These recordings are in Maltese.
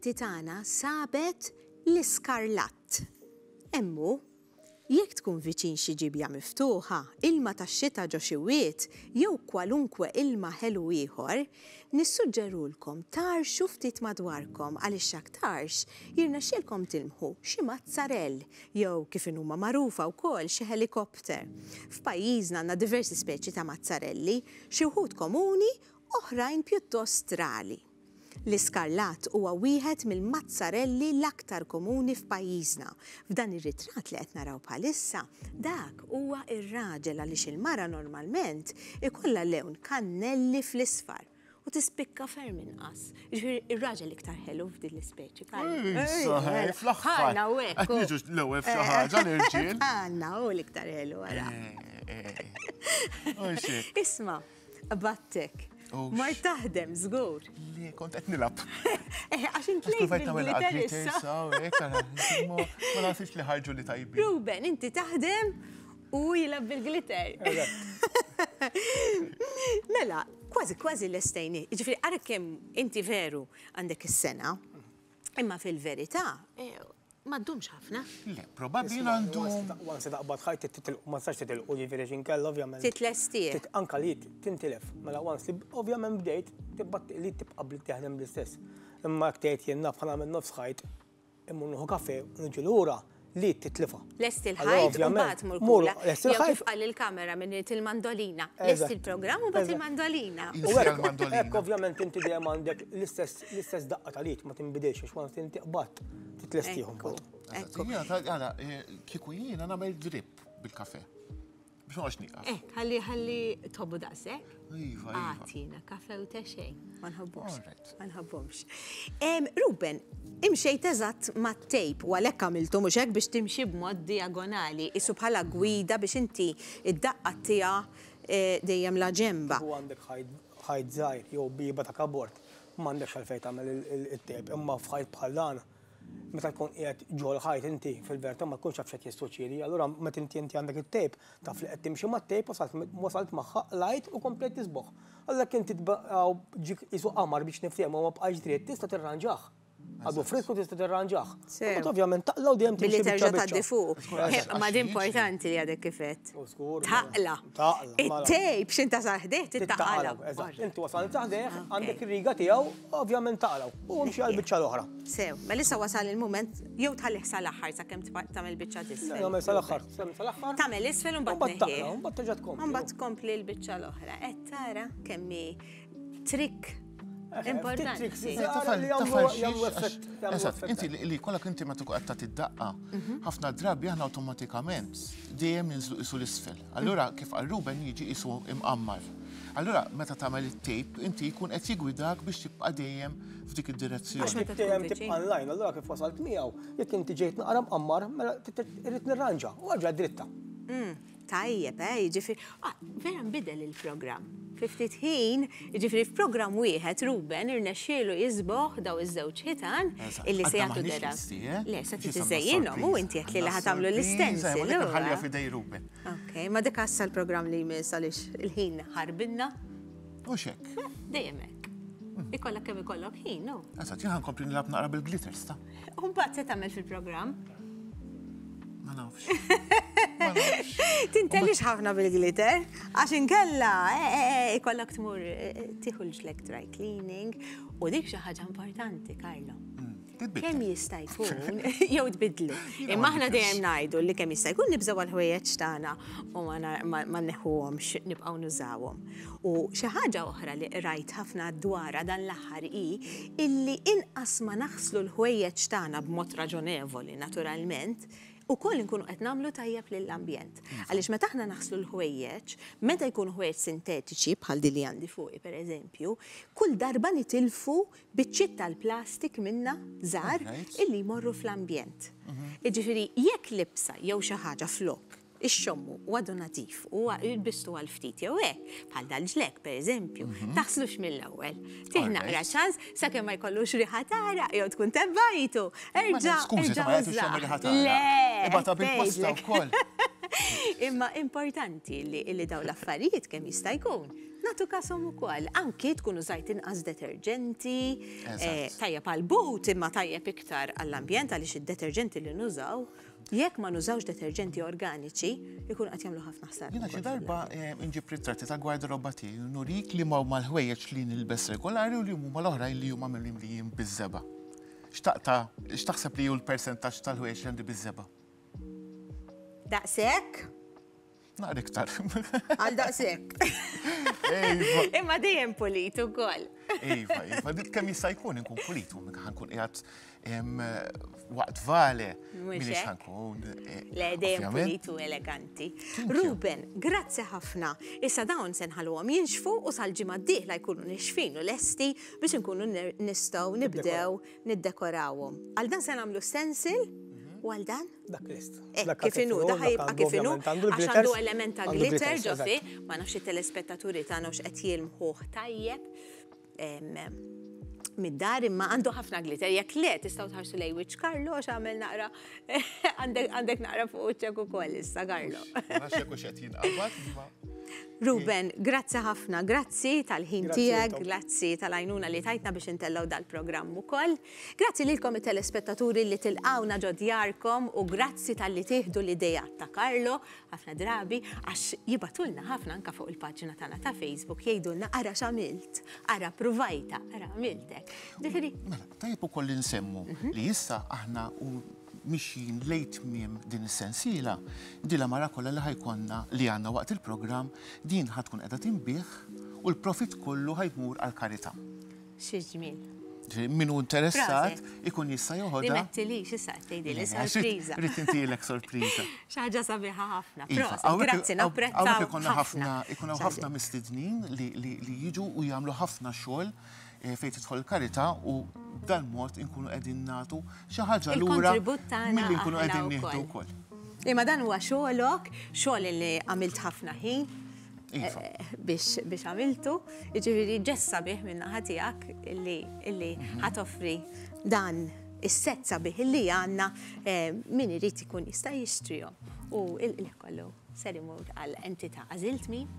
L-assistenti tagħna sabet l-iskarlatt. Hemm hu. Jekk tkun viċin xi ġiebja miftuħa, ilma tax-xita ġo xi wied, jew kwalunkwe ilma ħelu ieħor, nissuġġerulkom tgħarrxu ftit madwarkom għaliex x'aktarx jirnexxielkom tilmħu xi mazzarell jew kif inhuma magħrufa wkoll xi ħelikopter. F'pajjiżna għandna diversi speċi ta' mazzarelli, xi wħud komuni, oħrajn pjuttost rari. L-iskarlat huwa wieħed mill-mazzarelli l-aktar komuni f'pajjiżna. F'dan ir-ritratt li qed naraw bħalissa, dak huwa r-raġel għaliex il-mara normalment ikollha lewn kannelli fl-isfar u tispikka ferm inqas. Jiġifieri r-raġel iktar ħelu f'din l-ispeċi. Issa, fl-aħħar. Bħalna u hekk. Qed niġu l-ewwel f'xi ħaġa l-irġiel. Bħalna hu l-iktar ħelu ara. Isma'. Qbadtek. Mort taħdem, żgur. Le, kont qed nilgħab. Eh, għax int lejt bil-glitter issa. Ma nafx li ħarġu li tajbin. Ruben, inti taħdem u jilgħab bil-glitter. Mela, kważi kważi lestejni. Jiġifieri ara kemm inti veru għandek is-sena, imma fil-verità eh, Ma ddumx ħafna. Le, probabbli jiena ndum. Once taqbad ħajt titilqu, ma tistax titilqu jiġifieri għax inkella ovvjament. Titlestih. Anka li tintilef. Mela once li ovvjament bdejt, tibqa' li tibqa' taħdem bl-istess. Imma jekk tgħid jien naf ħa nagħmel nofs ħajt, immur nieħu kafè u niġi lura, li titlifha. Lesti l-ħajt u mbagħad mur kula. Jew kif qal il-kamera minn il-mandolina. Lesti l-programm u mbagħad il-mandolina. U hekk ovvjament inti dejjem għandek l-istess L-istess daqqa tal-id ma tinbidilx għax once inti qbadt titlestihom mbagħad. Jiena tara eh, kieku jiena nagħmel drip bil-kafe. Biex ma nieqaf. Eh, ħalli ħalli tobbu daqshekk. Iva, iva. Għatina kafe u te xejn. Ma nħobbux. Ma nħobbhomx. Ruben, imxejt eżatt mat-tejp u għalhekk għamiltu mhux hekk biex timxi b'mod diagonali, isu bħala gwida biex inti id-daqqa tiegħha eh, dejjem la ġemba. U għandek ħajt żgħir jew bieba ta' kabord M'għandekx għalfejn tagħmel it-tape, imma f'ħajt bħal dan, meta tkun qiegħed ġol-ħajt inti, fil-verità ma tkunx taf x'qed jissuċċiedi. Allura meta inti inti għandek it-tape, taf li qed timxi mat-tape, wasalt wasalt magħha, qlajt u komplejt tisbogħ. Allura jekk inti ġiek qisu qamar biex niftehmu ma bqajtx dritt, tista' tirranġah. Għadu frisku tista' tirranġah. Imbagħad ovvjament taqla' u dejjem Billi timxi biċċa terġa' biċċa. tgħaddi fuq. Ma din importanti li għadek kif għedt. U żgur. Taqla'. Taqla'. mela. It-tape x'inta sar ħdejh tittaqala. Taqla', eżatt. Inti wasalt sa ħdejh, għandek ir-riga tiegħu, ovvjament taqla' u imxi għall-biċċa l-oħra. Sew, mela issa wasal il-mument jew tħallih sal-aħħar sakemm tagħmel biċċa t'isfel. Nagħmel sal-aħħar, sal-aħħar. Tagħmel isfel u mbagħad Mbagħad taqla' u mbagħad terġa' tkompli. U mbagħad tkompli l-biċċa l-oħra. Qed tara kemm hi trick Importanti. Eżatt, inti li kollok inti meta tkun qed tagħti d-daqqa, mhm. ħafna drabi aħna awtomatikament dejjem ninżlu qisu l-isfel. Allura kif qal Ruben jiġi qisu imqammar. Allura meta tagħmel it-tape inti jkun qed jigwidak biex tibqa' dejjem f'dik id-direzzjoni. Għax meta dejjem tibqa' online, allura kif wasalt miegħu, jekk inti ġejt naqra mqammar, mela irrid nirranġa u għarġa dritta. Mm. Tajjeb, eh, jiġifieri, ah, vera nbidel il-programm. Fi ftit ħin, jiġifieri f'programm wieħed Ruben irnexxielu jiżboħ daw iż-żewġ ħitan illi se jagħtu dera. Eh? Le, se trid iżejjinhom u inti qed li li ħatamlu l-istensil. Ħallija f'idej Ruben. Ok, ma dik għassa l-programm li jmiss għaliex il-ħin ħarbinna. U xek. Eh, dejjem hekk. Hmm. Ikollok kemm ikollok ħin, no? Eżatt, jien ħankompli nilgħab naqra bil-glitters ta'. U mbagħad se tagħmel fil-programm? Ma nafx. Tintelix ħafna bil-glitter, għax inkella eh, eh, eh, ikollok tmur tieħu l-ġlek dry cleaning u dik xi ħaġa importanti, Carlo. Mm, kemm jista' jkun jew tbidlu. Imma aħna dejjem ngħidu li kemm jista' jkun nibżgħu għall-ħwejjeġ tagħna u ma neħuhomx nibqgħu nużawhom. U xi ħaġa oħra li qrajt ħafna dwarha dan l-aħħar hi illi inqas ma naħslu l-ħwejjeġ tagħna b'mod raġonevoli naturalment, ukoll inkunu qed nagħmlu tajjeb lill-ambjent. Għaliex meta aħna naħslu l-ħwejjeġ, meta jkunu ħwejjeġ sintetiċi bħal din li għandi fuqi pereżempju, kull darba nitilfu biċċiet tal-plastik minnha żgħar illi jmorru fl-ambjent. Jiġifieri jekk libsa jew xi ħaġa flok ixxommu u għadu nadif u lbistu għal ftit jew hekk, bħal dal-ġlekk pereżempju, mhm. taħslux mill-ewwel. Tih naqra ċans sakemm ma jkollux riħa tara jew tkun tebbajtu. Erġa' Skużi, ma jagħtux riħa tara. Le. Ibata bil-posta wkoll. Imma importanti li, li daw l-affarijiet kemm jista' jkun. Nagħtu kashom ukoll, anki tkun użajt inqas deterġenti, eh, tajjeb għal but imma tajjeb iktar għall-ambjent għaliex id-deterġenti li nużaw, jekk ma nużawx deterġenti organiċi, ikun qed jagħmlu ħafna ħsara. Jiena xi darba eh, nġib ritratti ta' gwardarobba tiegħi nurik li ma huma l-ħwejjeġ li nilbes regolari u li huma l-oħrajn li huma mimlijin biż-żebgħa. X'taqta' x'taħseb li hu l-persentaġġ tal-ħwejjeġ li għandi biż-żebgħa? Daqshekk? Naqra iktar. Għal daqshekk. Iva. Imma dejjem pulit ukoll. Iva, iva, dik kemm jista' jkun inkun pulit, u ħankun qiegħed waqt vale. Minix ħankun. Eh, Le dejjem pulit u eleganti. Ruben, grazzi ħafna. Issa dawn se nħalluhom jinxfu u sal-ġimgħa d-dieħla jkunu nixfin u lesti biex inkunu nistgħu nibdew niddekorawhom. Għal dan se nagħmlu stencil u għal dan? Dak list. Eh, kif inhu, da ħajibqa' kif inhu, għax għandu element ta' glitter ġo fih, ma nafx it-telespettaturi tagħna hux qed jilmħuh tajjeb mid-dar imma għandu ħafna glitter. Jekk le tistgħu tħarsu lej wiċċ Carlo għax għamel naqra għandek naqra fuq wiċċek ukoll issa Carlo. Ma nafx jekk hux qed jinqabad imma. Ruben, grazzi ħafna, grazzi tal-ħin tiegħek, grazzi tal-għajnuna li tajtna biex intellgħu dal-programm ukoll. Grazzi lilkom it-telespettaturi li tilqgħuna ġo djarkom u grazzi talli tieħdu l-ideat ta' Carlo ħafna drabi għax jibgħatulna ħafna anke fuq il-paġna tagħna ta' Facebook jgħidulna ara x'għamilt, ara pruvajta, ara għamilt hekk. Ġifieri. Mela, tajjeb ukoll li nsemmu mhm. li issa aħna u mixjin lejn tmiem din is-sensiela, din l-għamara kollha li ħajkonna li għandna waqt il-programm din ħa tkun qiegħda tinbiegħ u l-profit kollu ħajmur għall-karità. Xi ġmiel. Min hu interessat ikun jista' joħodha. Dimettilix issa qed tgħidili sorpriża. Rrid intilek sorpriża. Xi ħaġa sabiħa ħafna. Iva, grazzi napprezzaw. Hawnhekk ikollna ħafna ikun hawn ħafna mistednin li jiġu u jagħmlu ħafna xogħol eh, fejn tidħol il-karità u b'dal-mod inkunu qegħdin nagħtu xi ħaġa lura milli nkunu qegħdin nieħdu wkoll. Imma dan huwa xogħolok, xogħol li għamilt ħafna ħin Iva. Eh, biex biex għamiltu, jiġifieri ġest sabiħ minn naħa tiegħek illi illi mhm. ħatoffri dan is-set sabiħ illi għandna eh, min irid ikun jista' jixtrihom. U il-qliħ kollu ser imur għal entità għażilt min?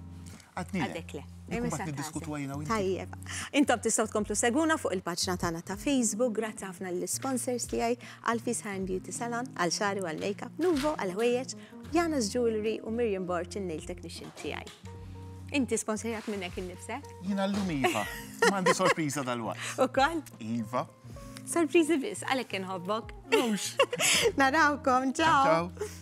Għadek le. Niddiskutu għajna u Tajjeb. Intom tistgħu tkomplu seguna fuq il-paġna tagħna ta' Facebook. Grazzi ħafna lill-sponsors tiegħi għal Fis Hair and Beauty Salon, għal xari u għal makeup Nuvo, għal ħwejjeġ, Jana's Jewelry u Miriam Borg in-nail technician tiegħi. Inti sponsorjat minnek innifsek? Jiena llum iva. M'għandi sorpriża dalwaqt. Ukoll? Iva. Sorpriżi biss, għalhekk inħobbok. Mhux. Narawkom, ciao. Ciao.